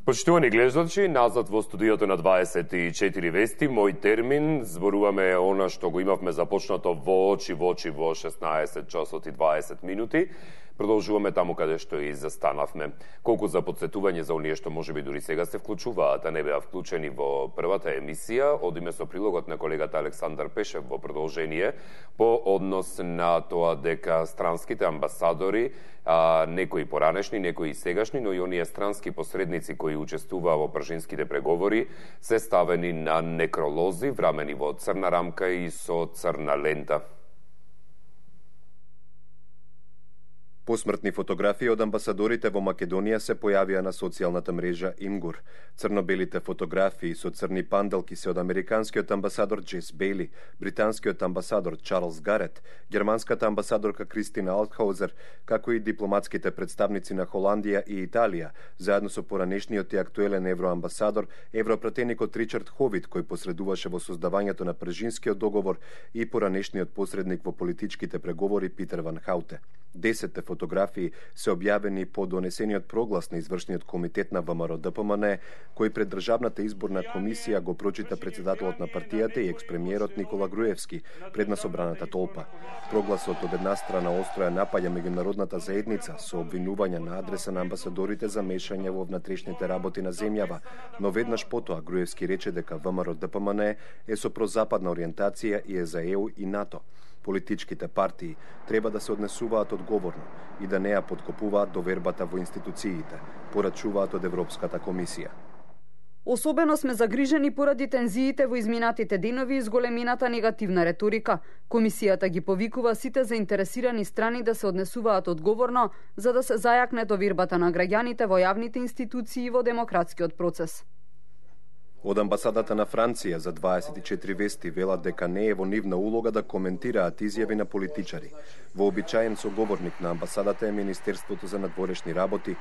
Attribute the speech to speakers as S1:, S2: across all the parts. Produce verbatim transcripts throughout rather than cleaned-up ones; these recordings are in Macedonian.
S1: Почитувани гледачи, назад во студиото на дваесет и четири вести, мој термин, зборуваме она што го имавме започнато во очи во очи во шеснаесет часот и дваесет минути. Продолжуваме таму каде што и застанавме. Колку за подсетување за оние што можеби дури сега се вклучуваат, а не беа вклучени во првата емисија, одиме со прилогот на колегата Александар Пешев во продолжение по однос на тоа дека странските амбасадори, а, некои поранешни, некои сегашни, но и оние странски посредници кои учествуваа во пржинските преговори, се ставени на некролози, врамени во црна рамка и со црна лента.
S2: Посмртни фотографии од амбасадорите во Македонија се појавија на социјалната мрежа Имгур. Црно-белите фотографии со црни панделки се од американскиот амбасадор Джес Бейли, британскиот амбасадор Чарлс Гарет, германската амбасадорка Кристина Алтхаузер, како и дипломатските представници на Холандија и Италија, заедно со поранешниот и актуелен евроамбасадор, европратеникот Ричард Ховит, кој посредуваше во создавањето на пржинскиот договор, и поранешниот посредник во политичките преговори Питер Ван Хауте. Десетте фотографии се објавени по донесениот проглас на извршниот комитет на ВМРО-ДПМН, кој пред Државната изборна комисија го прочита председателот на партијата и експремиерот Никола Груевски пред на собраната толпа. Прогласот од една страна остро ја напаѓа меѓународната заедница со обвинувања на адреса на амбасадорите за мешање во внатрешните работи на земјава, но веднаш потоа Груевски рече дека ВМРО-ДПМН е со прозападна ориентација и е за Е У и НАТО. Политичките партии треба да се однесуваат одговорно и да не ја подкопуваат довербата во институциите, порачуваат од Европската комисија.
S3: Особено сме загрижени поради тензиите во изминатите денови и зголемината негативна реторика. Комисијата ги повикува сите заинтересирани страни да се однесуваат одговорно, за да се зајакне довербата на граѓаните во јавните институции и во демократскиот процес.
S2: Од амбасадата на Франција за дваесет и четири вести велат дека не е во нивна улога да коментираат изјави на политичари. Вообичаен соговорник на амбасадата е Министерството за надворешни работи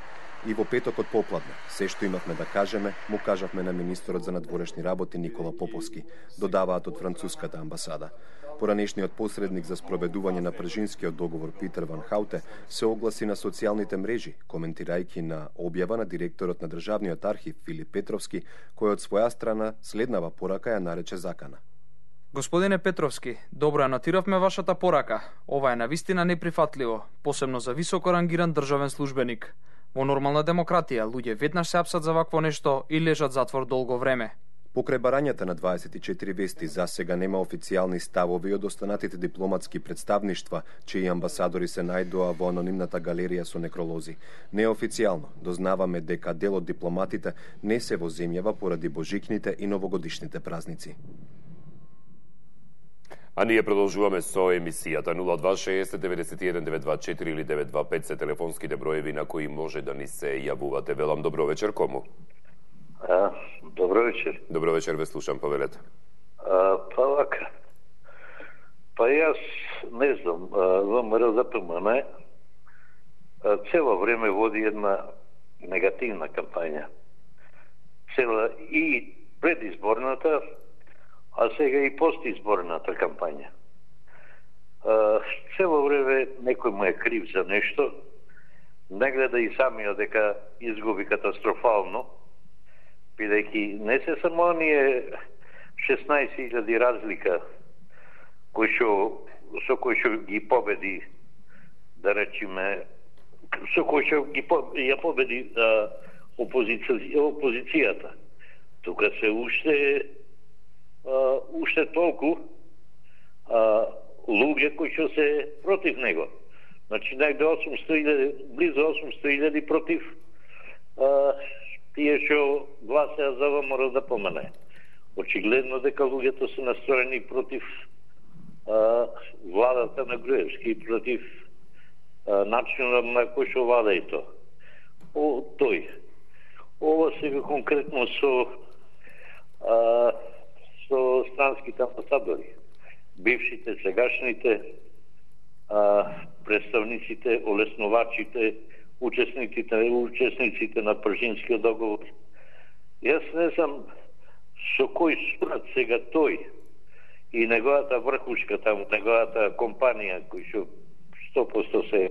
S2: и во петокот попладне се што имавме да кажеме, му кажавме на министерот за надворешни работи Никола Поповски, додаваат од француската амбасада. Поранешниот посредник за спроведување на пржинскиот договор Питер Ван Хауте се огласи на социјалните мрежи, коментирајќи на објава на директорот на Државниот архив Филип Петровски, кој од своја страна следнава порака ја нарече закана.
S4: Господине Петровски, добро ја нотиравме вашата порака. Ова е навистина неприфатливо, посебно за високо рангиран државен службеник. Во нормална демократија луѓе веднаш се апсат за вакво нешто и лежат затвор долго време.
S2: Покрај барањата на дваесет и четири вести, за сега нема официјални ставови од останатите дипломатски представништва, чии амбасадори се најдоа во анонимната галерија со некролози. Неофицијално дознаваме дека дел од дипломатите не се во земјава поради божикните и новогодишните празници.
S1: А ние продолжуваме со емисијата. нула два шеесет деветдесет и еден девет два четири или девет два пет се телефонските броеви на кои може да ни се јавувате. Велам добро вечер, кому?
S5: А, добро вечер.
S1: Добро вечер, ве слушам, повелете.
S5: А, па вака. Па јас не знам, ВМРО-ДПМН цело време води една негативна кампања. Цела и предизборната, а сега и постизборната кампања. А, цело време некој му е крив за нешто, не гледа и самиот дека изгуби катастрофално, бидејќи не се само оние шеснаесет илјади разлика кои што со кои што ги победи, да речеме, со кои што ги ја победи а, опозиција, опозицијата. Тука се уште а, уште толку а, луѓе кои што се против него. Значи најде осумстотини илјади, близу осумстотини илјади против а, тие што гласеа за ВМРО-ДПМН. Очигледно дека луѓето се настроени против а, владата на Груевски и против а, начинот на кој што влада и то. О, тој. Ова сега конкретно со а, со странските амбасадори, бившите, сегашните, а, представниците, олесновачите, учесниците, учесниците на пржинскиот договор. Јас не знам со кој сурат сега тој и неговата врхушка таму, неговата компанија, кој што сто проценти се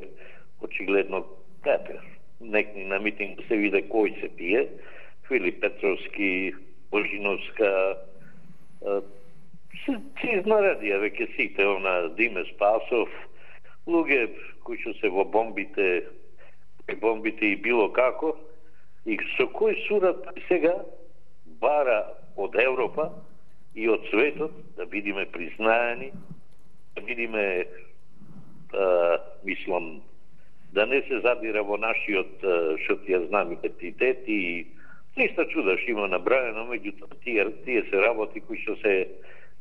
S5: очигледно капер. Некни на митинг се виде кој се пие, Филип Петровски, Божиновска, се изнаредија веќе сите, она Диме Спасов, луѓе кои што се во бомбите, бомбите и било како, и со кој сурат сега бара од Европа и од светот да бидиме признаени, да бидиме, а, мислам, да не се задира во нашиот, што ти ја знам, идентитет и ниста чуда што има набраено, меѓутоа тие, тие се работи кои што се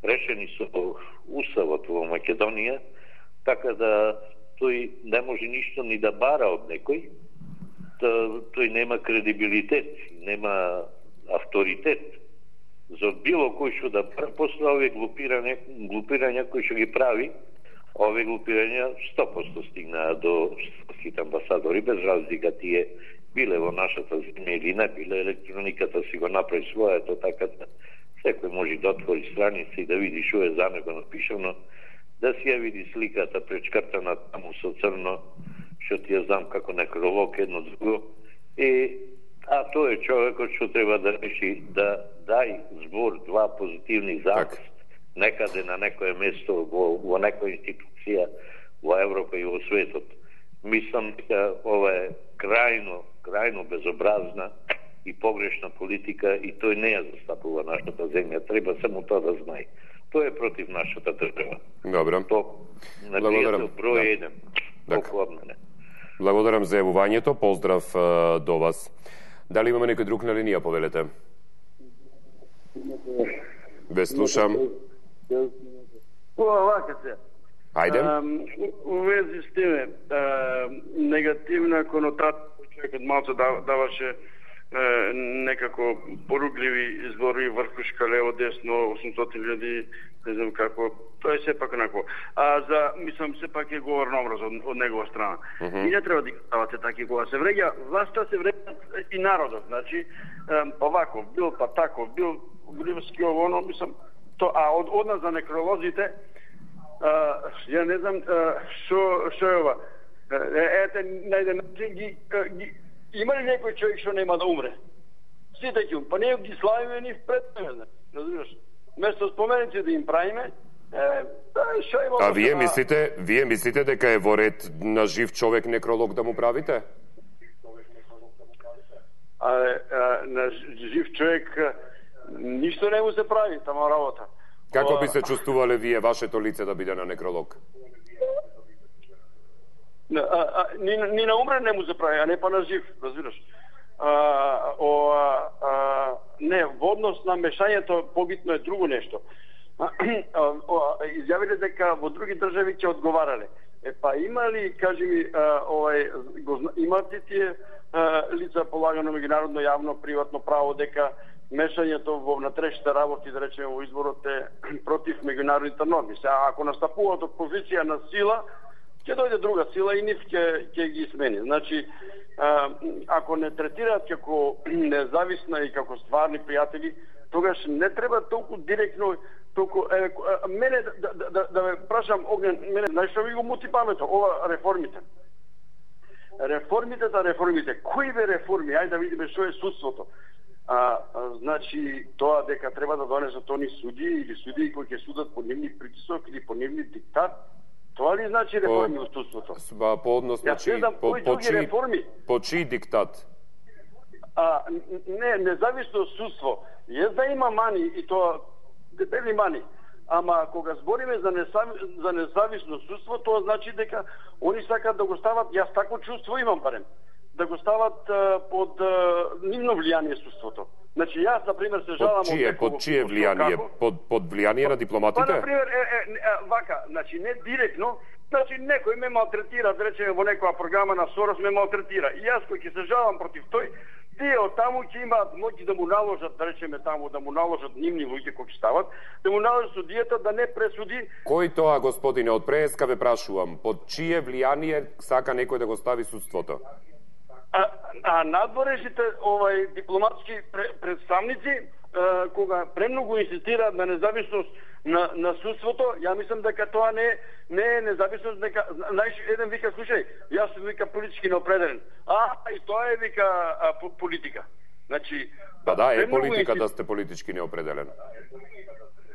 S5: решени со уставот во Македонија, така да тој не може ништо ни да бара од некој, тој нема кредибилитет, нема авторитет за било кој што да после овие глупирања, глупирања кои што ги прави, овие глупирања сто проценти стигнаа до штатските амбасадори, без разлика тие биле во нашата земја или не биле, електрониката си го направи своето, така да секој може да отвори страница и да види што е за него напишано, да си ја види сликата пречкртана таму со црно, што ти ја знам како некролог едно друго. И, а тој е човекот што треба да реши да дај збор два позитивни запис некаде на некое место во, во некоја институција во Европа и во светот. Мислам дека ова е крајно, крајно безобразна и погрешна политика и тој не ја застапува нашата земја. Треба само тоа да знае. Тој е против нашата држава.
S1: Добро.
S5: То на пријател број еден. Толку од мене.
S1: Благодарам за јавувањето. Поздрав uh, до вас. Дали имаме некој друг на линија, повелете? Ве слушам.
S6: Вака се.
S1: Ајде.
S6: У вези с теме, негативна конотација, човекот малце даваше некако порукливи избори, врхушка, лево, десно, осумстотини илјади, не знам како, тоа е сепак онако. А за, мислам, сепак е говорен образ од, од негова страна. Uh -huh. И не треба да ги ставате таки кога се вреѓа, власта се вреѓа и народот, значи, овако, бил па тако, бил Гривски ово, оно, мислам, то, а од, од нас за некролозите, а, ја не знам што што е ова. Ете, на еден начин ги, ги има ли некој човек што нема да умре? Сите ќе умре, па не ги славиме ни пред мене, разбираш? Место споменици да им правиме, е, што има...
S1: А вие мислите, вие мислите дека е во ред на жив човек некролог да му правите?
S6: А, а на жив човек ништо не му се прави, тама работа.
S1: Како би се чувствувале вие вашето лице да биде на некролог?
S6: А, а, ни, ни на умрен не му се прави, а не па на жив, разбираш. А, о, а, а, не, во однос на мешањето побитно е друго нешто. Изјавиле дека во други држави ќе одговарале. Е па има ли, кажи ми, а, овај, го, имат ли тие а, лица полагано меѓународно јавно приватно право дека мешањето во внатрешните работи, да речеме во изборот е против меѓународните норми? Се ако настапуваат од позиција на сила, ќе дојде друга сила и нив ќе ќе ги смени. Значи, а, ако не третираат како независна и како стварни пријатели, тогаш не треба толку директно, толку е, мене да да да, да ме прашам Огнен, мене најшто ви го мути паметот, ова реформите. Реформите да реформите. Кои бе реформи? Ајде да видиме што е судството. А, а значи тоа дека треба да донесат они судии или судии кои ќе судат по нивни притисок или по нивни диктат. Тоа ли значи реформи во судството?
S1: По, по однос на чии, по, по, чии, по чии диктат?
S6: А, не, независно судство. Јас да има мани и тоа дебели мани. Ама кога збориме за, несави, за независно судство, тоа значи дека они сакат да го стават, јас тако чувство имам барем, да го стават а, под а, нивно влијание судството. Значи јас, например, се жалам
S1: од чие, под чие влијание? Под, под влијание на дипломатите?
S6: Па, например, е, е, е, вака, значи не директно, значи некој ме малтретира, да речеме во некоја програма на Сорос ме малтретира. И јас кој ќе се жалам против тој, тие од таму ќе имаат моќ да му наложат, да речеме таму, да му наложат нивни луѓе кои ќе стават, да му наложат судијата да не пресуди.
S1: Кој тоа, господине, од преска ве прашувам, под чие влијание сака некој да го стави судството?
S6: А, а надворешните овај дипломатски представници, а, кога премногу инсистираат на независност на, на судството, ја мислам дека тоа не, не е независност, дека, знаеш, еден вика, слушај, јас сум вика политички неопределен. А, и тоа е вика а, политика. Значи,
S1: па да, е
S6: премногу
S1: политика
S6: инсти...
S1: да сте политички неопределен.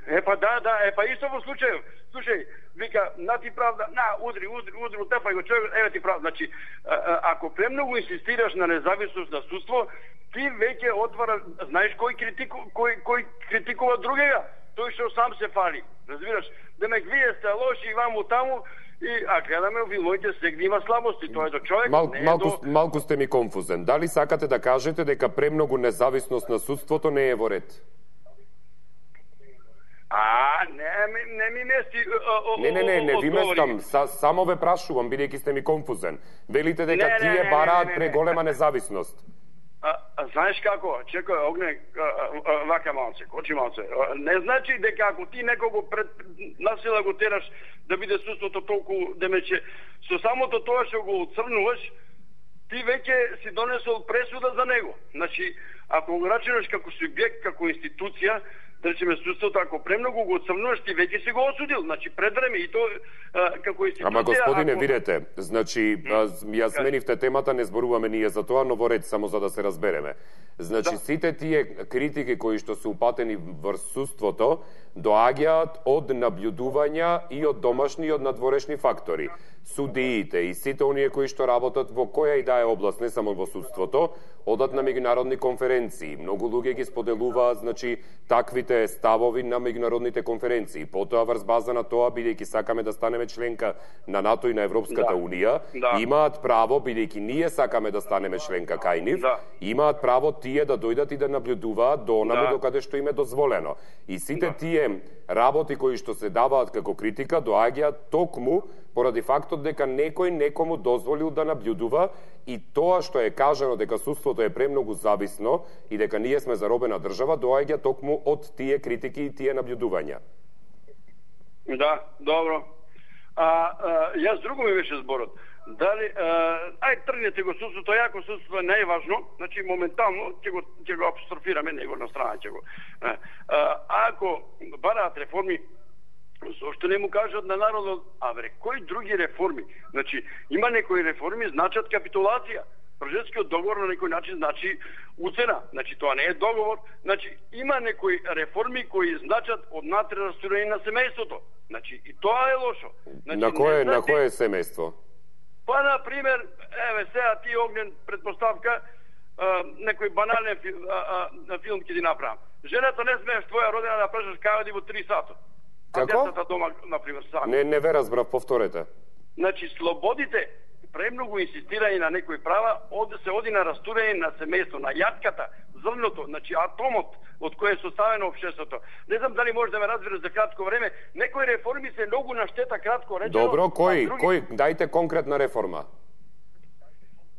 S6: Е, па да, да, е, па исто во случај, слушај, вика, на ти правда, на, удри, удри, удри, утепај го човек, еве ти правда. Значи, а, а, ако премногу инсистираш на независност на судство, ти веќе отвара, знаеш кој критику, кој кој критикува другега, тој што сам се фали. Разбираш? Демек вие сте лоши и ваму таму, и а гледаме филмовите сегде има слабости, тоа е до човек,
S1: Мал,
S6: не е
S1: малку,
S6: до...
S1: малку сте ми конфузен. Дали сакате да кажете дека премногу независност на судството не е во ред?
S6: А, не, ми- не ми мести... о, о,
S1: Не, не, не, не ви
S6: одговори.
S1: местам, са, само ве прашувам, бидејќи сте ми конфузен. Велите дека
S6: Не, не,
S1: тие
S6: не, не,
S1: бараат
S6: не, не,
S1: преголема
S6: не.
S1: независност.
S6: А, а знаеш како? Чекај, огне, а, а, вака малце, кочи малце. А, Не значи дека ако ти некого пред насила го тераш да биде судството толку демече, со самото тоа што го оцрнуваш, ти веќе си донесол пресуда за него. Значи, ако го рачунаш како субјект, како институција, да речеме судството, ако премногу го оцрнуваш, ти веќе си го осудил. Значи, пред време и то а, како институција...
S1: Ама господине,
S6: ако...
S1: видете, значи, а, ја сменивте темата, не зборуваме ние за тоа, но во ред, само за да се разбереме. Значи,
S6: Да.
S1: сите тие критики кои што се упатени врз судството, доаѓаат од наблюдувања и од домашни и од надворешни фактори. Судиите и сите оние кои што работат во која и да е област, не само во судството, одат на меѓународни конференции. Многу луѓе ги споделуваат, значи, таквите ставови на меѓународните конференции. Потоа врз база на тоа, бидејќи сакаме да станеме членка на НАТО и на Европската
S6: Да.
S1: унија,
S6: Да.
S1: имаат право, бидејќи ние сакаме да станеме членка кај нив,
S6: Да.
S1: имаат право тие да дојдат и да наблюдуваат до онаму
S6: Да.
S1: докаде што им е дозволено. И сите
S6: Да.
S1: тие работи кои што се даваат како критика доаѓаат токму поради фактот дека некој некому дозволил да наблюдува и тоа што е кажано дека судството е премногу зависно и дека ние сме заробена држава доаѓа токму од тие критики и тие наблюдувања.
S6: Да, добро. А, а јас друго ми беше зборот. Дали а, ај тргнете го судството, јако судството е најважно, значи моментално ќе го ќе го апострофираме него на страна ќе го. А, а, ако бараат реформи, зошто не му кажат на народот, а бре, кои други реформи? Значи, има некои реформи значат капитулација. Пржевскиот договор на некој начин значи уцена. Значи, тоа не е договор. Значи, има некои реформи кои значат однатре растурање на семејството. Значи, и тоа е лошо. Значи,
S1: На кое,
S6: не
S1: на
S6: значи-
S1: кое семејство?
S6: Па, на пример, еве сега ти огнен предпоставка, а, некој банален фи, а, а, филм ќе ти направам. Жената не смееш твоја родина да прашаш кај оди во три сата. А
S1: Како?
S6: децата дома, например, сами.
S1: Не, не ве разбрав, повторете.
S6: Значи, слободите, премногу инсистирање на некои права, оде се оди на растурање на семејство, на јатката, зрното, значи атомот од кој е составено општеството. Не знам дали може да ме разбереш за кратко време, некои реформи се многу на штета, кратко речено.
S1: Добро, кој,
S6: а други...
S1: кој, дајте конкретна реформа.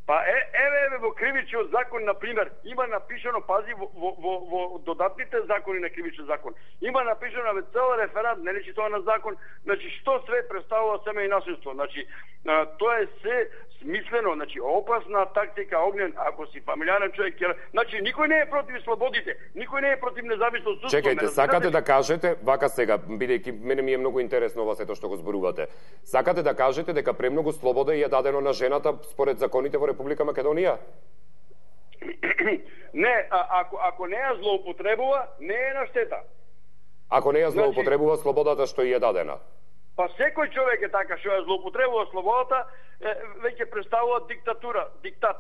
S6: Па е, еве, еве, во кривичниот закон, на пример, има напишано, пази, во, во, во, во додатните закони на кривичниот закон, има напишано ве цел реферат, не личи тоа на закон, значи, што све представува семеј насилство. Значи, а, тоа е се смислено, значи, опасна тактика, огнен, ако си фамилиарен човек, ќе... значи, никој не е против слободите, никој не е против независно судство.
S1: Чекајте,
S6: ме
S1: сакате
S6: разбирате?
S1: да кажете, вака сега, бидејќи мене ми е многу интересно ова сето што го зборувате. Сакате да кажете дека премногу слобода ја е дадено на жената според законите во Република Македонија?
S6: Не, а, ако, ако не ја злоупотребува, не е на штета.
S1: Ако не ја
S6: Значи-
S1: злоупотребува слободата што ја е дадена.
S6: Па секој човек е така, што ја злоупотребува слободата, е, веќе представува диктатура, диктат.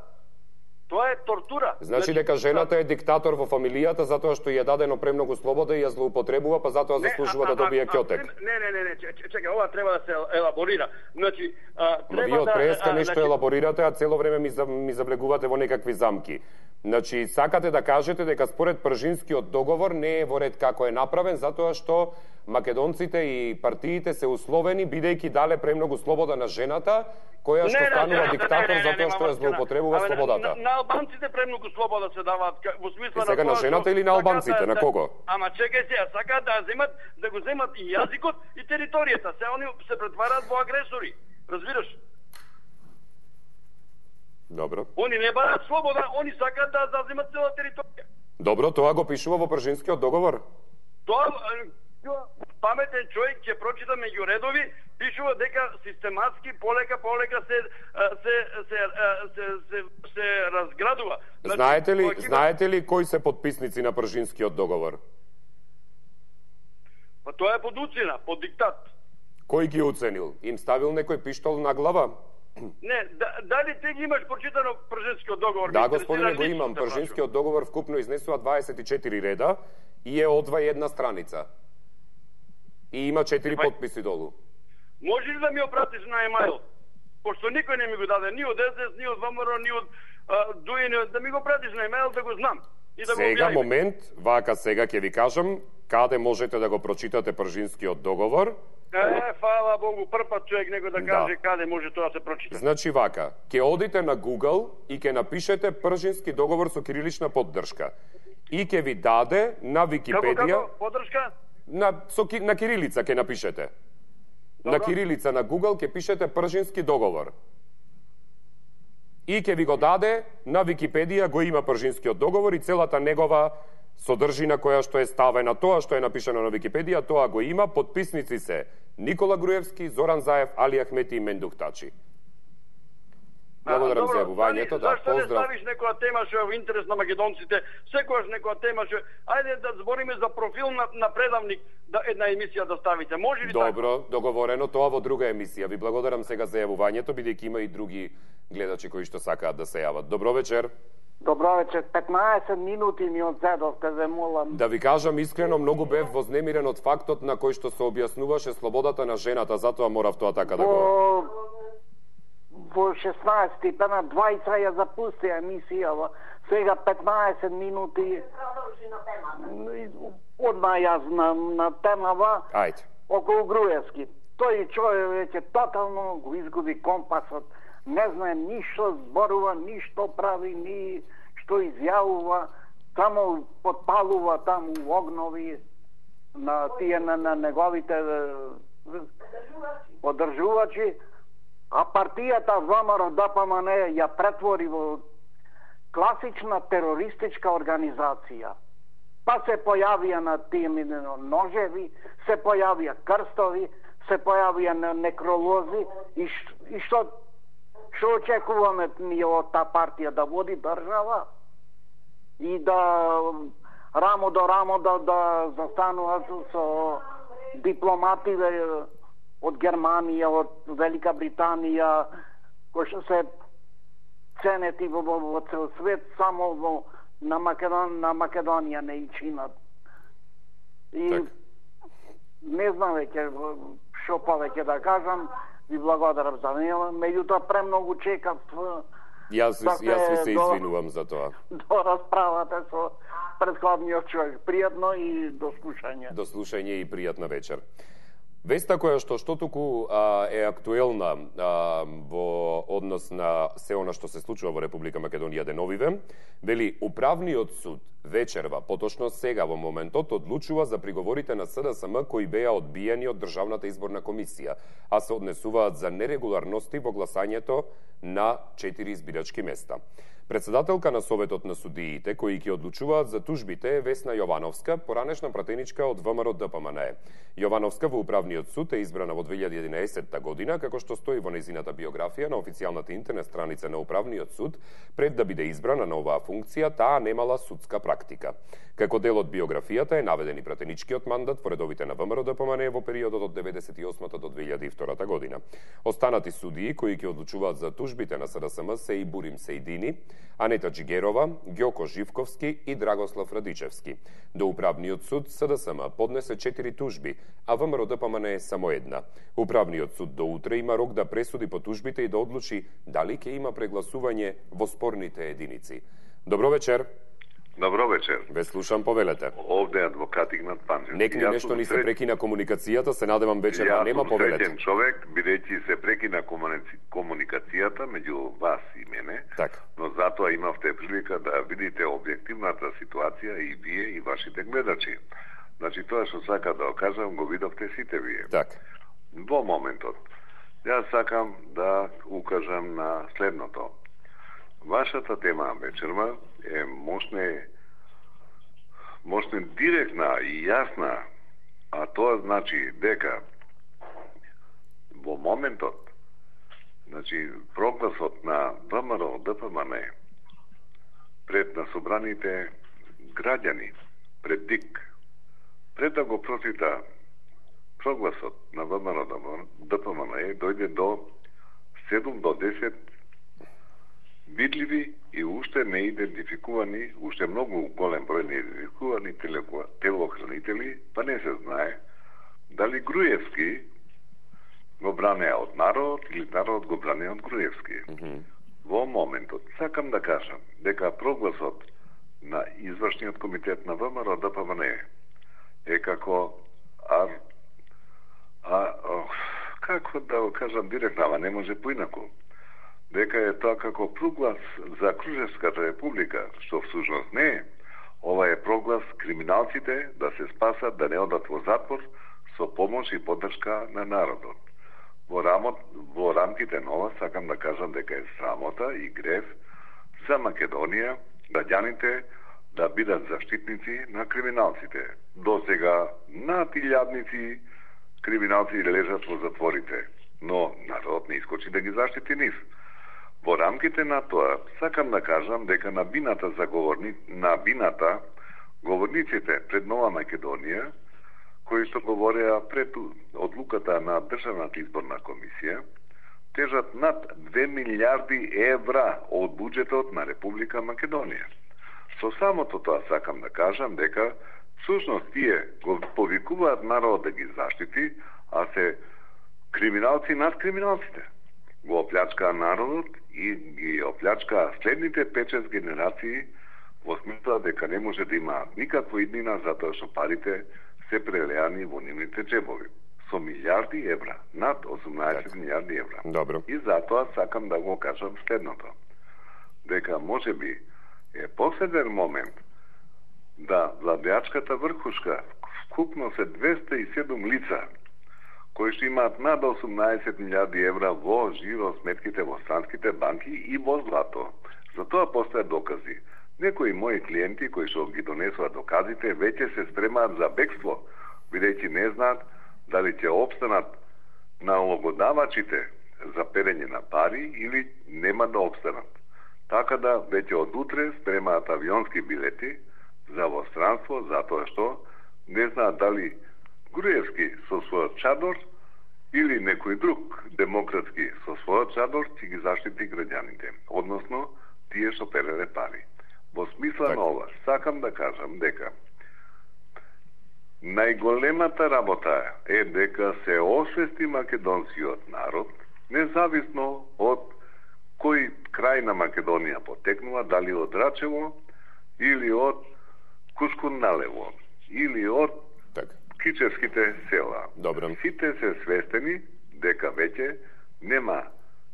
S6: Тоа е тортура.
S1: Значи дека жената е диктатор во фамилијата затоа што ја е дадено премногу слобода и ја злоупотребува, па затоа
S6: Не,
S1: заслужува
S6: а-
S1: да
S6: а-
S1: добие
S6: а-
S1: ќотек.
S6: Не, не, не, не, че- че- чекај, ова треба да се елаборира. Значи, а,
S1: Но
S6: треба
S1: вие од
S6: да...
S1: преска
S6: а,
S1: нешто
S6: значи,
S1: елаборирате, а цело време ми, за- ми завлегувате во некакви замки. Значи, сакате да кажете дека според Пржинскиот договор не е во ред како е направен, затоа што македонците и партиите се условени, бидејќи дале премногу слобода на жената, која што
S6: Не, не,
S1: станува
S6: не, не,
S1: диктатор
S6: не, не, не,
S1: затоа што ја
S6: нема
S1: злоупотребува
S6: врска. Абе,
S1: слободата.
S6: На, на албанците премногу слобода се даваат ка- во смисла
S1: И сега на
S6: тоа
S1: жената
S6: што
S1: или на
S6: сакаат
S1: албанците, на кого?
S6: Ама чекај сега, сакаат да земат, да го земат и јазикот и територијата. Се они се претвараат во агресори. Разбираш?
S1: Добро.
S6: Они не бараат слобода, они сакаат да заземат цела територија.
S1: Добро, тоа го пишува во Пржинскиот договор.
S6: Тоа е, паметен човек ќе прочита меѓу редови, пишува дека систематски полека полека се се се се се, се разградува.
S1: Значи, знаете ли, знаете ли кои се потписници на Пржинскиот договор?
S6: Па тоа е под уцена, под диктат.
S1: Кој ги оценил? Им ставил некој пиштол на глава?
S6: Не, да, дали ти ги имаш прочитано Пржинскиот договор?
S1: Да, господине, го имам. Пржинскиот договор вкупно изнесува дваесет и четири реда и е одва една страница. И има четири
S6: Епа,
S1: потписи долу.
S6: Може ли да ми опратиш на емайл? Пошто никој не ми го даде, ни од Ес Ес, ни од ВМРО, ни од ДУИ, да ми го пратиш на емайл да го знам. И да
S1: Сега,
S6: го
S1: момент, вака сега ќе ви кажам, каде можете да го прочитате Пржинскиот договор.
S6: Е, фала Богу, првпат човек некој да каже да. Каде може тоа да се прочита.
S1: Значи вака, ќе одите на Google и ќе напишете Пржински договор со кирилична поддршка. И ќе ви даде на Википедија...
S6: Како, како, поддршка?
S1: На, со, на кирилица ќе напишете. Добро. На кирилица на Google ќе пишете Пржински договор. И ќе ви го даде на Википедија, го има Пржинскиот договор и целата негова содржина која што е ставена, тоа што е напишано на Википедија, тоа го има. Потписници се Никола Груевски, Зоран Заев, Али Ахмети и Мендух Тачи. Благодарам за јавувањето. Да,
S6: зашто
S1: поздрав.
S6: не ставиш некоја тема што е во интерес на македонците? Секогаш некоја тема што ајде да збориме за профил на, на предавник, да една емисија да ставите. Може ли
S1: Добро,
S6: така?
S1: договорено, тоа во друга емисија. Ви благодарам сега за јавувањето, бидејќи има и други гледачи кои што сакаат да се јават. Добро вечер.
S7: Добро вечер. петнаесет минути ми одзедовте, ве молам.
S1: Да ви кажам искрено, многу бев вознемирен од фактот на кој што се објаснуваше слободата на жената, затоа морав тоа така да го...
S7: Во шеснаесет пена дваесет ја запусти емисија, сега петнаесет минути одма јас на, на темава.
S1: Ајде.
S7: Околу Груевски. Тој човек веќе тотално го изгуби компасот. Не знае ништо зборува, ништо прави, ни што изјавува, само подпалува таму огнови на тие на, на неговите поддржувачи, а партијата ВМРО Д П М Н ја претвори во класична терористичка организација. Па се појавија на тие ножеви, се појавија крстови, се појавија на некролози и, ш, и што што очекуваме ние од таа партија да води држава и да рамо до рамо да, да застануваат со дипломативе од Германија, од Велика Британија, кои што се ценети во, во, во цел свет, само во, на, Македон, на Македонија не и чинат. И так. Не знам веќе што повеќе да кажам, ви благодарам за неа, меѓутоа премногу чекав.
S1: Јас, да јас ви се извинувам за тоа.
S7: До расправата со претходниот човек. Пријатно и до слушање.
S1: До слушање и пријатна вечер. Веста која што што туку а, е актуелна а, во однос на се она што се случува во Република Македонија деновиве, вели Управниот суд вечерва, поточно сега во моментот, одлучува за приговорите на С Д С М кои беа одбиени од Државната изборна комисија, а се однесуваат за нерегуларности во гласањето на четири избирачки места. Председателка на Советот на судиите, кои ќе одлучуваат за тужбите, е Весна Јовановска, поранешна пратеничка од В М Р Д П М Н. Јовановска во Управниот суд е избрана во две илјади и единаесетта година, како што стои во нејзината биографија на официјалната интернет страница на Управниот суд. Пред да биде избрана на оваа функција, таа немала судска практика. Како дел од биографијата е наведен и пратеничкиот мандат во редовите на В М Р Д П М Н во периодот од деветдесет и осмата до две илјади и втората година. Останати судии кои ќе одлучуваат за тужбите на С Д С М се и Бурим Сејдини, Анета Джигерова, Ѓоко Живковски и Драгослав Радичевски. До Управниот суд С Д С М поднесе четири тужби, а В М Р Д П М Н е само една. Управниот суд до утре има рок да пресуди по тужбите и да одлучи дали ќе има прегласување во спорните единици. Добро вечер.
S8: Добро вечер.
S1: Ве слушам, повелете.
S8: Овде е адвокат Игнат Панчев.
S1: Некни нешто ни се прекина комуникацијата, се надевам вечерва нема, повелете.
S8: Јас сум среќен човек, бидејќи се прекина комуникацијата меѓу вас и мене,
S1: так.
S8: Но затоа имавте прилика да видите објективната ситуација и вие и вашите гледачи. Значи тоа што сака да окажам го видовте сите вие.
S1: Так.
S8: Во моментот, јас сакам да укажам на следното. Вашата тема вечерва е мощне, мощне директна и јасна, а тоа значи дека во моментот, значи, прогласот на ВМРО ДПМН пред на собраните граѓани, пред ДИК, пред да го прочита прогласот на ВМРО ДПМН, дојде до седум до десет видливи и уште не идентификувани, уште многу голем број не идентификувани телохранители, па не се знае дали Груевски го бранеа од народ или народ го бранеа од Груевски. Mm -hmm. Во моментот, сакам да кажам дека прогласот на извршниот комитет на ВМРО ДПМН е како а, а, о, како да го кажам директно, ама не може поинаку, дека е тоа како проглас за Кружевската република, што всушност не е. Ова е проглас криминалците да се спасат, да не одат во затвор со помош и поддршка на народот. Во, рамот, во рамките на ова сакам да кажам дека е срамота и грев за Македонија граѓаните да бидат заштитници на криминалците. До сега над илјадници криминалци лежат во затворите, но народот не искочи да ги заштити нив. Во рамките на тоа, сакам да кажам дека на бината за говорни... на бината говорниците пред Нова Македонија, кои што говореа пред одлуката на Државната изборна комисија, тежат над две милијарди евра од буџетот на Република Македонија. Со самото тоа сакам да кажам дека всушност тие го повикуваат народ да ги заштити, а се криминалци над криминалците. Го оплячкаа народот и ги оплячкаа следните пет-шест генерации во смисла дека не може да имаат никаква иднина затоа што парите се прелеани во нивните джебови. Со милијарди евра, над осумнаесет милијарди евра.
S1: Добро.
S8: И затоа сакам да го кажам следното. Дека може би е последен момент да владеачката врхушка, вкупно се двеста и седум лица, кои што имаат над осумнаесет милијарди евра во жиро сметките во странските банки и во злато. За тоа постојат докази. Некои мои клиенти кои што ги донесува доказите веќе се спремаат за бегство, бидејќи не знаат дали ќе обстанат на налогодавачите за перење на пари или нема да обстанат. Така да веќе од утре спремаат авионски билети за во странство, затоа што не знаат дали Груевски со својот чадор или некој друг демократски со својот чадор ќе ги заштити граѓаните, односно тие што переле пари. Во смисла так. На ова, сакам да кажам дека најголемата работа е дека се освести македонскиот народ, независно од кој крај на Македонија потекнува, дали од Рачево или од Кушкунналево или од
S1: так.
S8: Кичевските села.
S1: Добро.
S8: Сите се свестени дека веќе нема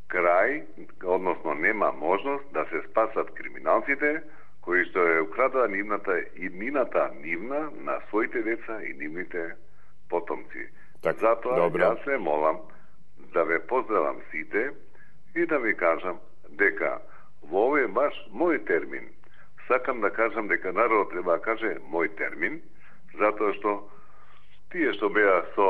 S8: крај, односно нема можност да се спасат криминалците кои што е украдаа нивната иднината нивна на своите деца и нивните потомци.
S1: Так,
S8: затоа
S1: добро.
S8: Јас се молам да ве поздравам сите и да ви кажам дека во овој баш мој термин, сакам да кажам дека народот треба да каже мој термин, затоа што тие што беа со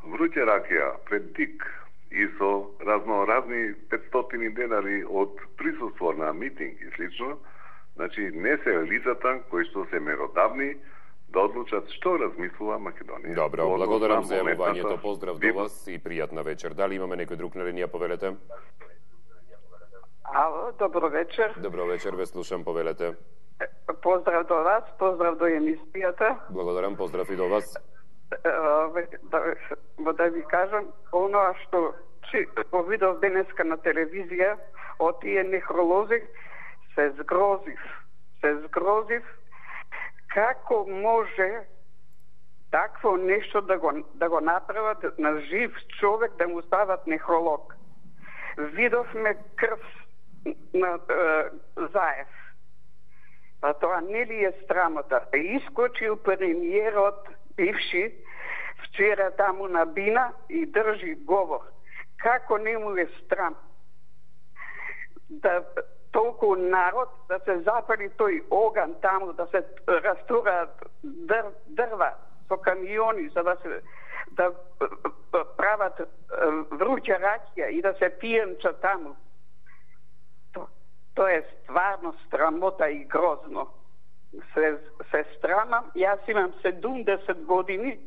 S8: вруќе ракија пред ДИК и со разноразни петстотини денари од присуство на митинг и слично, значи не се лицата кои што се меродавни да одлучат што размислува Македонија.
S1: Добро, благодарам за јавувањето, поздрав до вас и пријатна вечер. Дали имаме некој друг на линија, повелете?
S9: Ало, добро вечер.
S1: Добро вечер, ве слушам, повелете.
S9: Поздрав до вас, поздрав до емисијата.
S1: Благодарам, поздрав и до вас.
S9: Да, да ви кажам, оноа што го видов денеска на телевизија, од тие нехролози, се згрозив. Се згрозив како може такво нешто да го, да го направат на жив човек, да му стават нехролог. Видовме крв на е, Заев. Па тоа не ли е страмота? Искочил премиерот бивши вчера таму на Бина и држи говор. Како не му е страм да толку народ да се запали тој оган таму, да се растураат дөр, дрва со камиони за да се да прават вруча ракија и да се пиенча таму. То, то е стварно срамота и грозно. Се, се страмам, јас имам седумдесет години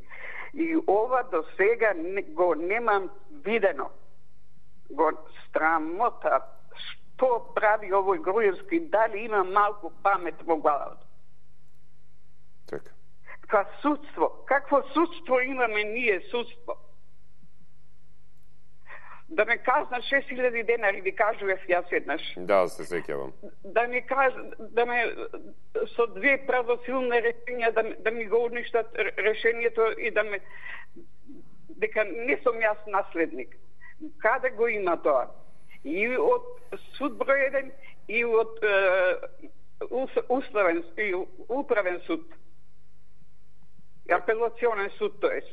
S9: и ова до сега не, го немам видено. Го страмота. Што прави овој Груевски? Дали има малку памет во главата?
S1: Така.
S9: Ка судство. Какво судство имаме ние, судство? Да ме казна шест илјади денари, ви кажував јас еднаш.
S1: Да, се сеќавам.
S9: Да ми кажа, да ме со две правосилни решенија да, да ми го уништат решението и да ме дека не сум јас наследник. Каде го има тоа? И од суд број еден и од е, уставен и управен суд. И апелационен суд, тоест.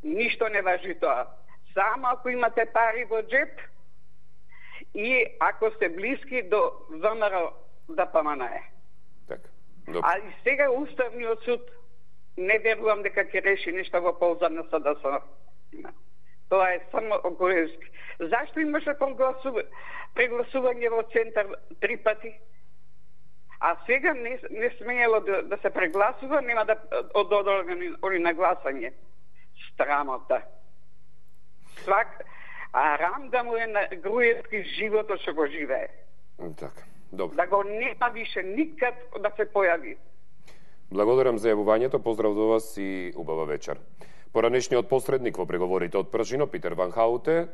S9: Ништо не важи тоа. Само ако имате пари во джеп и ако сте блиски до ВМРО да поманае.
S1: Така. Добро.
S9: А и сега Уставниот суд не верувам дека ќе реши нешто во полза на СДСМ. Тоа е само Груевски. Зашто имаше прогласува... прегласување во центар три пати? А сега не, не смеело да, да се прегласува, нема да ододолени на гласање. Страмота. Свак, а рам да му е на Груевски животот што го живее.
S1: Така, добро.
S9: Да го нема више никад да се појави.
S1: Благодарам за јавувањето, поздрав до вас и убава вечер. Поранешниот посредник во преговорите од пржино, Питер Ван Хауте,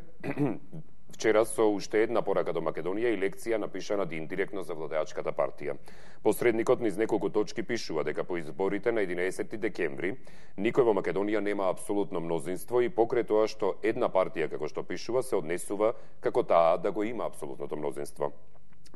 S1: вчера со уште една порака до Македонија и лекција напишана индиректно за владеачката партија. Посредникот низ неколку точки пишува дека по изборите на единаесети декември никој во Македонија нема апсолутно мнозинство и покрај тоа што една партија, како што пишува, се однесува како таа да го има апсолутното мнозинство.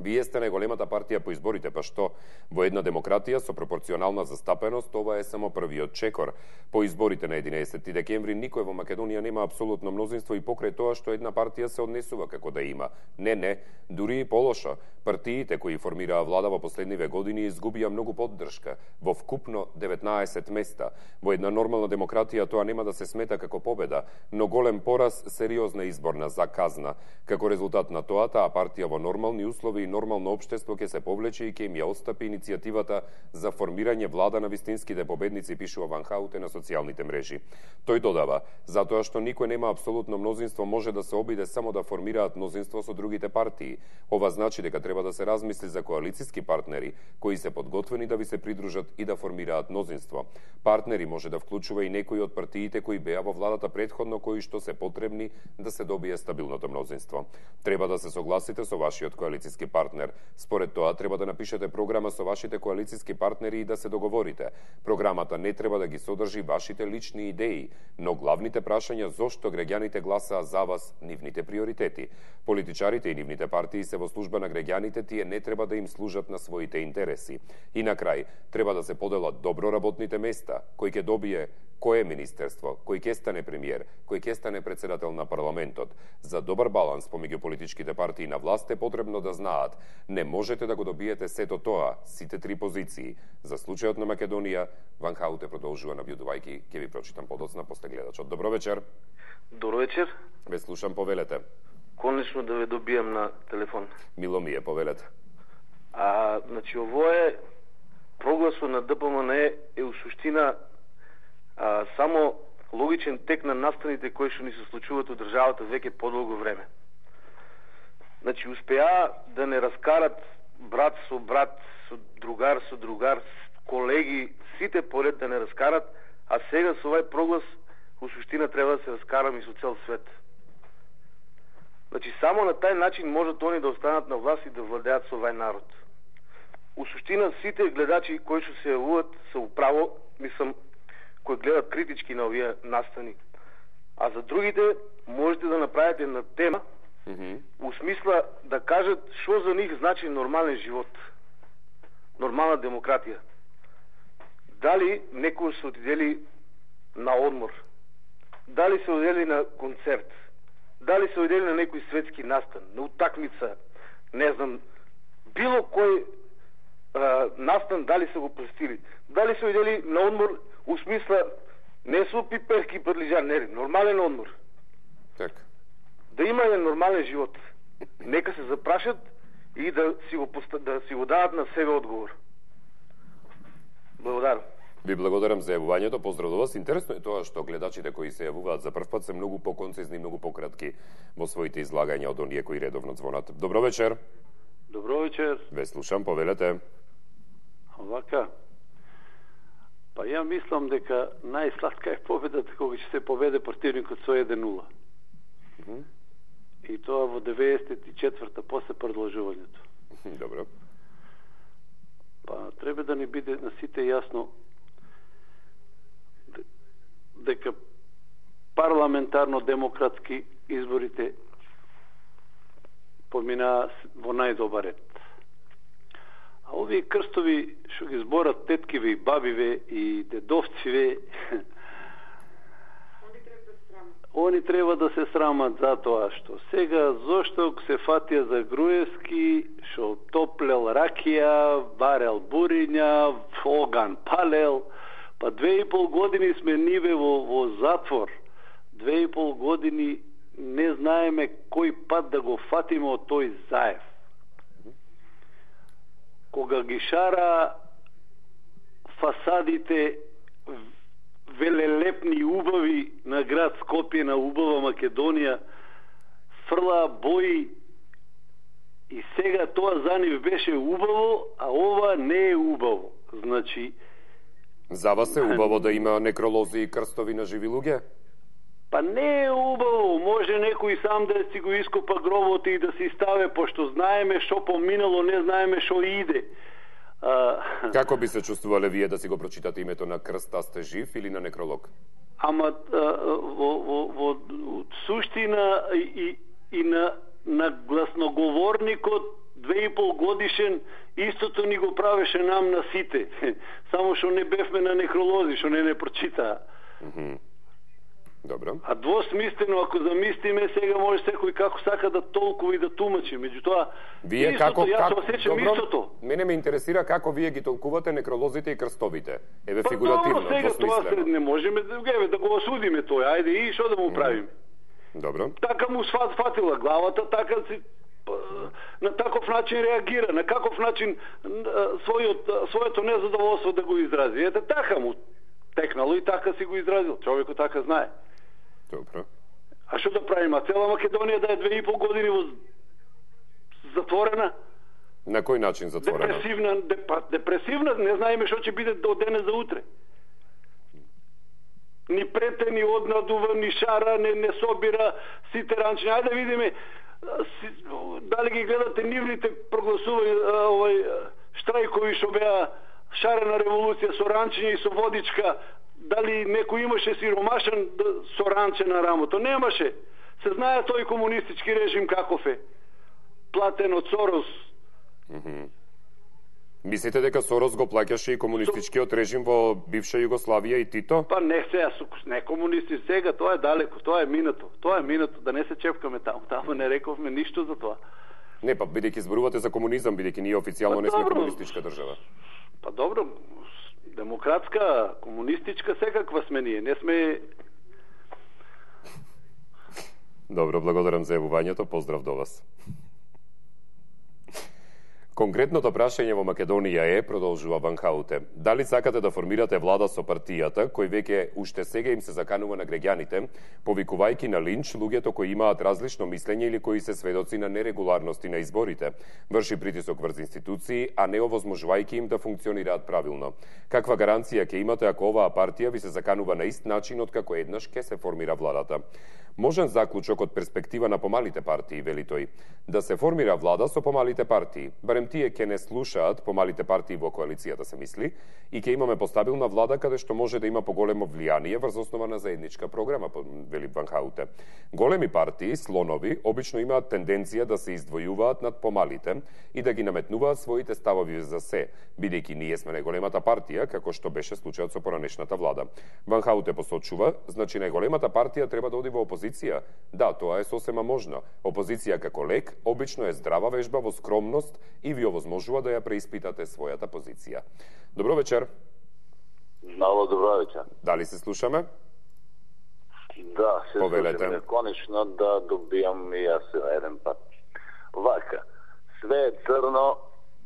S1: Вие сте најголемата партија по изборите, па што во една демократија со пропорционална застапеност ова е само првиот чекор. По изборите на единаесети декември никој во Македонија нема апсолутно мнозинство и покрај тоа што една партија се однесува како да има. Не, не, дури и полошо. Партиите кои формираа влада во последниве години изгубија многу поддршка, во вкупно деветнаесет места. Во една нормална демократија тоа нема да се смета како победа, но голем пораз, сериозна изборна заказна. Како резултат на тоа, таа партија во нормални услови и нормално општество ќе се повлече и ќе им ја остапи иницијативата за формирање влада на вистинските победници, пишува Ван Хауте на социјалните мрежи. Тој додава, затоа што никој нема апсолутно мнозинство, може да се обиде само да формираат мнозинство со другите партии. Ова значи дека треба да се размисли за коалициски партнери кои се подготвени да ви се придружат и да формираат мнозинство. Партнери може да вклучува и некои од партиите кои беа во владата претходно, кои што се потребни да се добие стабилното мнозинство. Треба да се согласите со вашиот коалициски партнер. Според тоа треба да напишете програма со вашите коалициски партнери и да се договорите. Програмата не треба да ги содржи вашите лични идеи, но главните прашања зошто граѓаните гласаа за вас, нивните приоритети. Политичарите и нивните партии се во служба на граѓаните, тие не треба да им служат на своите интереси. И на крај, треба да се поделат добро работните места, кој ќе добие кое министерство, кој ќе стане премиер, кој ќе стане председател на парламентот. За добар баланс помеѓу политичките партии на власт е потребно да знаат, не можете да го добиете сето тоа, сите три позиции. За случајот на Македонија, Ван Хауте продолжува набљудувајќи, ќе ви прочитам подоцна после гледачот. Добро вечер.
S10: Добро вечер.
S1: Ве слушам, повелете.
S10: Конечно да ве добијам на телефон.
S1: Мило ми е, повелете.
S10: А, значи, ово е прогласот на ДПМН е у суштина а, само логичен тек на настаните кои што ни се случуваат у државата веќе подолго време. Значи, успеа да не раскарат брат со брат, со другар со другар, колеги, сите поред да не раскарат, а сега со овај проглас у суштина треба да се раскарам и со цел свет. Значи, само на тај начин можат они да останат на власт и да владеат со овај народ. У суштина, сите гледачи кои што се јавуваат се управо, мислам, кои гледат критички на овие настани. А за другите, можете да направите на тема, mm-hmm. у смисла да кажат што за нив значи нормален живот, нормална демократија. Дали некој се отидели на одмор, дали се одели на концерт, дали се одели на некој светски настан, на утакмица, не знам, било кој а, настан, дали се го простили, дали се одели на одмор, у смисла Не су пиперки и прлижан, не, нормален одмор.
S1: Така.
S10: Да има еден нормален живот. Нека се запрашат и да си го, да си го дадат на себе одговор. Благодарам.
S1: Ви благодарам за јавувањето, поздрав до вас. Интересно е тоа што гледачите кои се јавуваат за прв пат се многу поконцизни и многу пократки во своите излагања од оние кои редовно звонат. Добро вечер.
S11: Добро вечер.
S1: Ве слушам, повелете.
S11: Овака. Па ја мислам дека најслатка е победата кога ќе се поведе противникот со еден нула. Mm -hmm. И тоа во деветдесет и четврта после продолжувањето.
S1: Добро.
S11: Па треба да ни биде на сите јасно дека парламентарно-демократски изборите поминаа во најдобар ред. А овие крстови што ги зборат теткиве и бабиве и дедовциве, они треба да се срамат за тоа што сега зошто се фатија за Груевски, што топлел ракија, барел буриња, оган палел. Па две и пол години сме ниве во, во затвор. Две и пол години не знаеме кој пат да го фатиме од тој заев. Кога ги шара фасадите велелепни и убави на град Скопје, на убава Македонија, фрла бои и сега тоа за нив беше убаво, а ова не е убаво. Значи,
S1: за вас е убаво да има некролози и крстови на живи луѓе?
S11: Па не е убаво, може некој сам да си го ископа гробот и да си ставе, пошто знаеме што поминало, не знаеме што иде.
S1: А... Како би се чувствувале вие да си го прочитате името на крст, а сте жив или на некролог?
S11: Ама а, во, во, во суштина и, и на, на гласноговорникот две и пол годишен истото ни го правеше нам на сите. Само што не бевме на некролози, што не не прочитаа.
S1: Mm -hmm. Добро.
S11: А двосмислено, ако замислиме, сега може секој како сака да толкува и да тумачи. Меѓутоа,
S1: вие
S11: истото,
S1: како,
S11: јас
S1: како,
S11: осеќам
S1: добро,
S11: истото.
S1: Мене ме интересира како вие ги толкувате некролозите и крстовите. Еве
S11: па,
S1: фигуративно,
S11: добро, сега тоа се, не можеме да, еве, да го осудиме тој. Ајде, и што да му правиме?
S1: Добро.
S11: Така му сфат, фатила главата, така си на таков начин реагира, на каков начин својот, своето незадоволство да го изрази. Ете, така му текнало и така си го изразил. Човекот така знае.
S1: Добро.
S11: А што да правиме? А цела Македонија да е две и пол години во затворена?
S1: На кој начин затворена?
S11: Депресивна, депа, депресивна, не знаеме што ќе биде од денес за утре. Ни прете, ни однадува, ни шара, не, не собира сите ранчини. Ајде да видиме дали ги гледате нивните прогласувања, овој штрајкови што беа шарена револуција со ранчиња и со водичка. Дали некој имаше сиромашен со ранче на рамото? Немаше. Се знае тој комунистички режим каков е. Платен од Сорос.
S1: Mm -hmm. Мислите дека Сорос го плаќаше и комунистичкиот режим во бивша Југославија и Тито?
S11: Па не сега, не комунисти сега, тоа е далеко, тоа е минато. Тоа е минато, да не се чепкаме таму. Таму не рековме ништо за тоа.
S1: Не, па бидејќи зборувате за комунизам, бидејќи ние официјално па, не сме комунистичка држава.
S11: Па добро, демократска, комунистичка, секаква сме ние. Не сме...
S1: Добро, благодарам за јавувањето. Поздрав до вас. Конкретното прашање во Македонија е, продолжува Ван Хауте, дали сакате да формирате влада со партијата, кој веќе уште сега им се заканува на граѓаните, повикувајќи на линч луѓето кои имаат различно мислење или кои се сведоци на нерегуларности на изборите, врши притисок врз институции, а не овозможувајќи им да функционираат правилно. Каква гаранција ќе имате ако оваа партија ви се заканува на ист начин од како еднаш ќе се формира владата? Можен заклучок од перспектива на помалите партии, вели тој, да се формира влада со помалите партии, барем тие ќе не слушаат помалите партии во коалицијата, се мисли, и ќе имаме постабилна влада каде што може да има поголемо влијание врз основа на заедничка програма, вели Ван Хауте. Големи партии, слонови, обично имаат тенденција да се издвојуваат над помалите и да ги наметнуваат своите ставови за се, бидејќи ние сме најголемата партија, како што беше случајот со поранешната влада. Ван Хауте посочува, значи најголемата партија треба да оди во опозиција. Да, тоа е сосема можно. Опозиција како лек обично е здрава вежба во скромност и ви овозможува да ја преиспитате својата позиција. Добро вечер.
S12: Ало, добро вечер.
S1: Дали се слушаме?
S12: Да, се
S1: Повелете.
S12: слушаме. Конечно да добијам и јас еден пат. Вака, све е црно,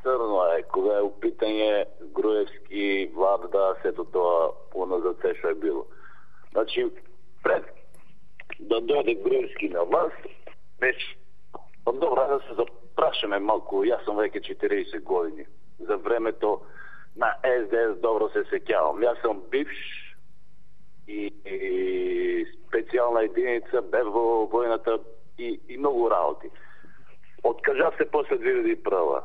S12: црно е. Кога е у питање Груевски, Варда, сето тоа поназад се што е било. Значи, пред да дојде Груевски на власт, веќе, па добро, да се запрашаме малку, јас сум веќе четириесет години. За времето на Ес Де Ес добро се сеќавам. Јас сум бивш и, и специјална единица, бев во војната и, и многу работи. Откажав се после две илјади и прва.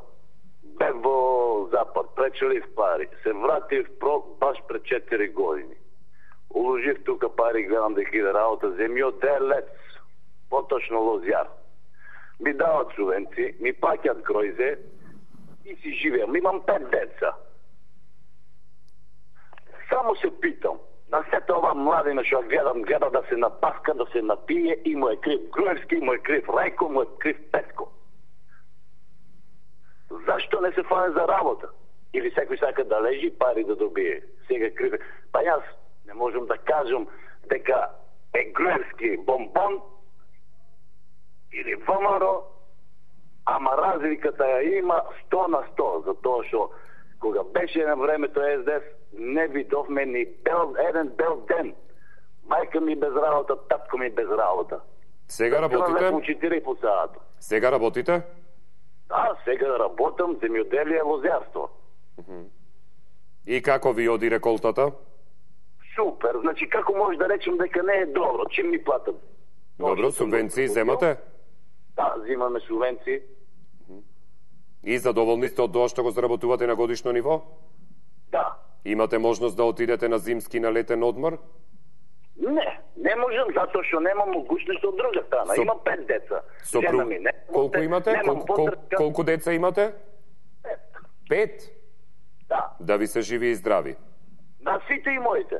S12: Бев во Запад, пречелив пари. Се вратив про баш пред четири години. Уложив тука пари, гледам дека иде работа. Земјоделец, поточно лозјар. Ми дават субвенции, ми паќат гројзе и си живеам. Имам пет деца. Само се питам, на сета ова младина што гледам, гледа да се напаска, да се напие и му е крив Груевски, му е крив Рајко, му е крив Петко. Зашто не се фане за работа? Или секој сака да лежи пари да добие? Сега крив. Па јас не можам да кажам дека е Груевски бомбон или ВМРО, ама разликата ја има сто на сто, затоа што кога беше на времето Ес Де Ес, не видовме ни бел, еден бел ден. Мајка ми без работа, татко ми без работа.
S1: Сега работите?
S12: По четири по саато.
S1: Сега работите?
S12: Да, сега работам, земјоделие, лозјарство.
S1: Uh-huh. И како ви оди реколтата?
S12: Супер, значи како може да речем дека не е добро, чим ми платат?
S1: Добро, субвенции земате?
S12: Да, земаме субвенции.
S1: Uh-huh. И задоволни сте од тоа што го заработувате на годишно ниво?
S12: Да.
S1: Имате можност да отидете на зимски на летен одмор?
S12: Не, не можам, затоа што немам могуćност од друга страна.
S1: Со...
S12: Имам пет деца.
S1: Сопру...
S12: Жена ми не.
S1: Колку имате? Колку, кол... колку деца имате?
S12: Пет.
S1: Пет?
S12: Да.
S1: Да ви се живи и здрави.
S12: На сите и моите.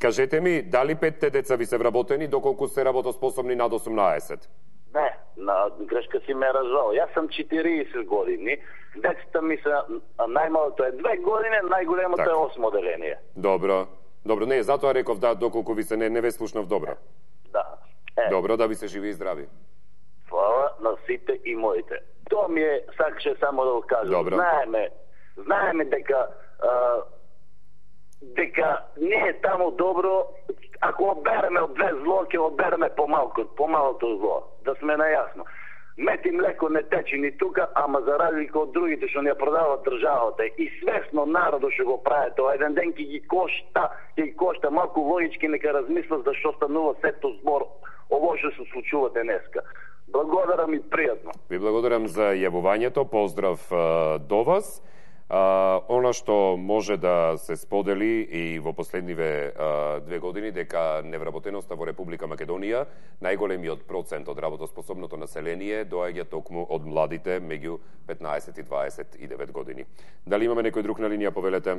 S1: Кажете ми, дали петте деца ви се вработени, доколку сте работоспособни над осумнаесет?
S12: Не, на грешка си ме развал. Јас сум четириесет години, децата ми се, најмалото е две години, најголемото
S1: так.
S12: е осмо оделение.
S1: Добро. Добро, не, затоа реков да, доколку ви се не, не ве слушнав добро.
S12: Да. Е.
S1: Добро, да ви се живи и здрави.
S12: Фала на сите и моите. Тоа ми е, сакаше само да го кажам.
S1: Добро.
S12: Знаеме, знаеме дека а, дека не е таму добро, ако обереме од две зло, ќе обереме помалко, помалото зло. Да сме најасно. Мет и млеко не тече ни тука, ама за разлика од другите што ни ја продават државата и свесно народот што го прави тоа, еден ден ќе ги кошта, ќе ги кошта малку логички, нека размислат зашто станува сето збор ово што се случува денеска. Благодарам и пријатно.
S1: Ви благодарам за јавувањето, поздрав а, до вас. А, она што може да се сподели и во последниве а, две години дека невработеноста во Република Македонија, најголемиот процент од работоспособното население доаѓа токму од младите меѓу петнаесет и дваесет и девет години. Дали имаме некој друг на линија, повелете?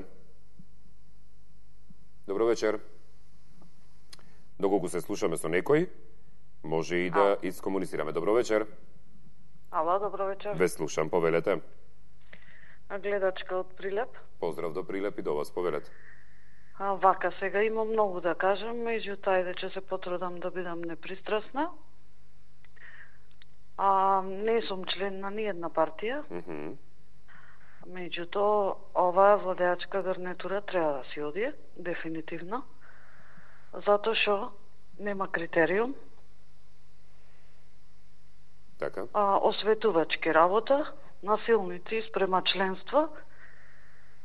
S1: Добро вечер. Доколку се слушаме со некој, може и да а. искомуницираме. Добро вечер.
S13: Ало, добро вечер.
S1: Ве слушам, повелете.
S13: Гледачка од Прилеп.
S1: Поздрав до Прилеп и до вас, повелете.
S13: А, вака, сега имам многу да кажам, меѓутоа ајде ќе се потрудам да бидам непристрасна. А, не сум член на ниедна партија.
S1: Mm -hmm.
S13: Меѓутоа, оваа владеачка гарнитура треба да си оди, дефинитивно. Затоа што нема критериум.
S1: Така.
S13: А, осветувачки работа, насилници спрема членство,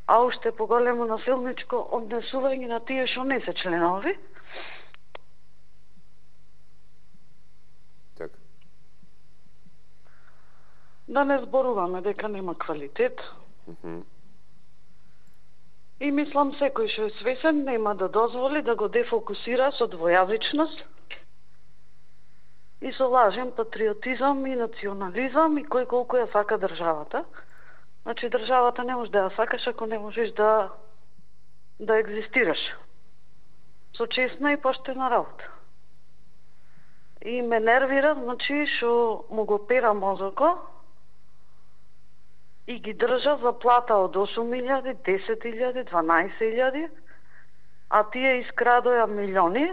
S13: а уште поголемо насилничко однесување на тие што не се членови.
S1: Така.
S13: Да не зборуваме дека нема квалитет.
S1: Mm-hmm.
S13: И мислам секој што е свесен нема да дозволи да го дефокусира со двојазичност и со лажен патриотизам и национализам и кој колку ја сака државата. Значи државата не може да ја сакаш ако не можеш да да екзистираш со честна и поштена работа. И ме нервира, значи, што му го пера мозоко и ги држа за плата од осум илјади, десет илјади, дванаесет илјади, а тие искрадоја милиони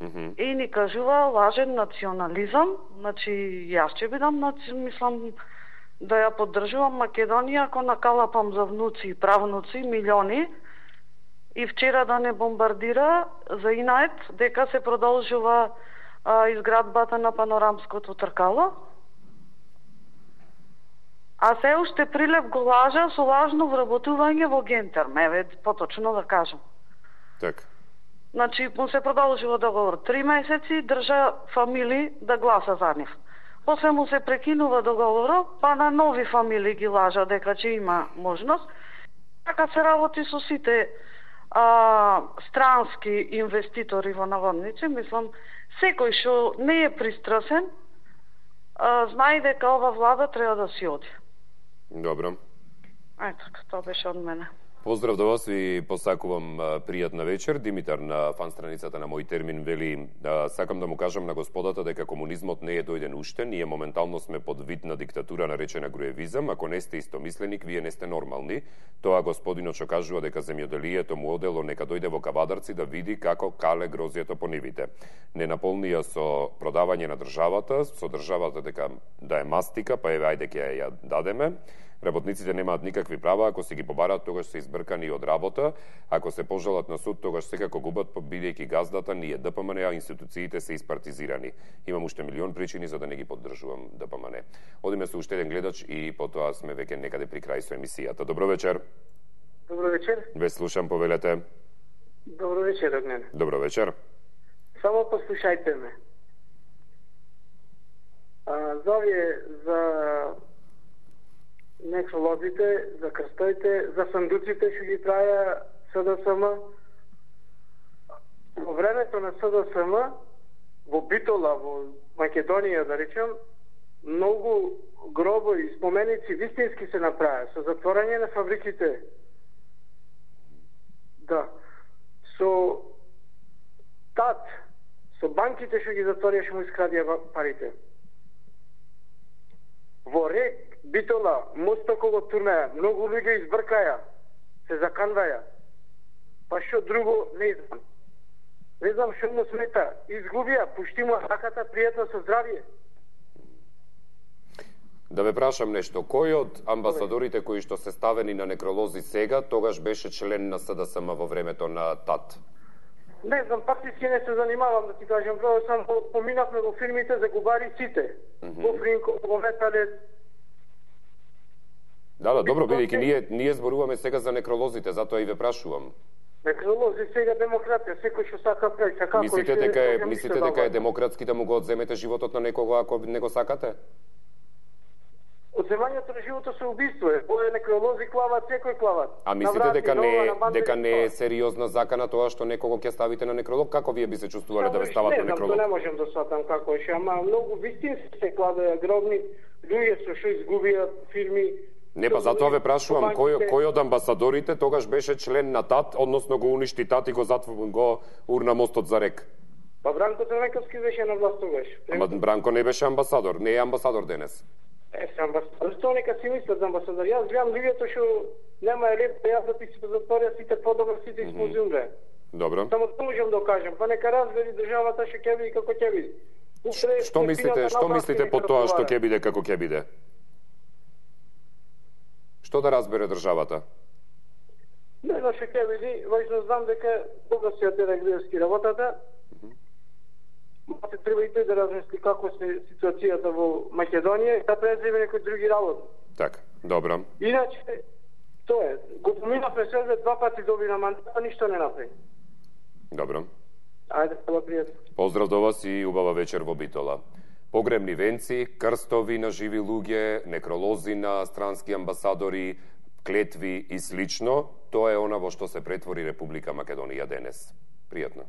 S1: Mm -hmm.
S13: и ни кажува лажен национализам. Значи, јас ќе бидам, мислам, да ја поддржувам Македонија ако накалапам за внуци и правнуци милиони и вчера да не бомбардира за инает дека се продолжува а, изградбата на панорамското тркало. А се уште Прилеп го лажа со лажно вработување во Гентерм, еве поточно да кажам.
S1: Така.
S13: Значи, му се продолжува договор три месеци, држа фамилии да гласа за нив. После му се прекинува договорот, па на нови фамилии ги лажа дека ќе има можност. Така се работи со сите а, странски инвеститори во наводници. Мислам, секој што не е пристрасен, а, знае дека ова влада треба да си оди.
S1: Добро.
S13: Ето, тоа беше од мене.
S1: Поздрав до вас, ви посакувам пријатна вечер. Димитар на фан страницата на Мој термин вели: сакам да му кажам на господата дека комунизмот не е дојден уште, ние моментално сме под вид на диктатура наречена груевизам, ако не сте истомисленик, вие не сте нормални. Тоа господинот што кажува дека земјоделието му одело, нека дојде во Кавадарци да види како кале грозието по нивите. Не наполнија со продавање на државата, со државата дека да е мастика, па еве ајде ќе ја дадеме. Работниците немаат никакви права, ако се ги побараат, тогаш се избркани од работа, ако се пожалат на суд, тогаш секако губат, бидејќи газдата ние Д П М Н, а институциите се испартизирани. Имам уште милион причини за да не ги поддржувам Д П М Н. Одиме со уште еден гледач и потоа сме веќе некаде при крај со емисијата. Добро вечер.
S14: Добро вечер.
S1: Ве слушам, повелете.
S14: Добро вечер, Огнен.
S1: Добро вечер.
S14: Само послушајте ме. А, за овие, за некролозите, за крстоите, за сандуците што ги праја С Д С М. Во времето на С Д С М, во Битола, во Македонија, да речем, многу гробови и споменици вистински се направи, со затворање на фабриките. Да. Со ТАТ, со банките што ги затворија, што му искрадија парите. Во Рек, Битола, мост околу Турнеја, многу луѓе избркаја, се заканваја. Па што друго не знам. Не знам што му смета. Изгубија, пушти му раката, пријатно со здравје.
S1: Да ве прашам нешто, кој од амбасадорите кои што се ставени на некролози сега, тогаш беше член на С Д С М во времето на ТАТ?
S14: Не знам, практички не се занимавам, да ти кажем, право сам поминавме во фирмите за губари сите. Mm -hmm. Во Фринко, во Металец.
S1: Да, да, добро, бидејќи ние, ние зборуваме сега за некролозите, затоа и ве прашувам.
S14: Некролози сега демократија, секој што сака прави, како
S1: мислите дека е, мислите дека е демократски да му го одземете животот на некого ако не го сакате?
S14: Одземањето на животот се убиство е. Бој некролози клават, секој клават.
S1: А мислите дека не е дека не е сериозна закана тоа што некого ќе ставите на некролог? Како вие би се чувствувале да ве стават на некролог?
S14: Не, не можам да сватам како е, ама многу вистински се кладеа гробни луѓе со што изгубија фирми.
S1: Не, па затоа ве прашувам, кој, кој од амбасадорите тогаш беше член на ТАТ, односно го уништи ТАТ и го затвор, го урна мостот за Рек?
S14: Па Бранко Црнековски беше на власт тогаш.
S1: Ама Бранко не беше амбасадор, не е амбасадор денес.
S14: Е, се амбасадор. Што нека си мислат за амбасадор? Јас гледам луѓето што нема е леп, јас да ти се затворија сите подобро, сите исползумре.
S1: Добро.
S14: Само тоа можам да кажам, па нека разбери државата што ќе биде како ќе биде.
S1: Што мислите, што мислите по тоа што ќе биде како ќе биде? Што да разбере државата?
S14: Не знам што ќе биде, важно знам дека кога се отеде гледски работата, се треба и тој да размисли како се ситуацијата во Македонија и да преземе некои други работи.
S1: Така, добро.
S14: Иначе, тоа е. Го поминавме се два пати доби на мандат, а ништо не направи.
S1: Добро.
S14: Ајде, тоа пријатно.
S1: Поздрав до вас и убава вечер во Битола. Погребни венци, крстови на живи луѓе, некролози на странски амбасадори, клетви и слично, тоа е она во што се претвори Република Македонија денес. Пријатно.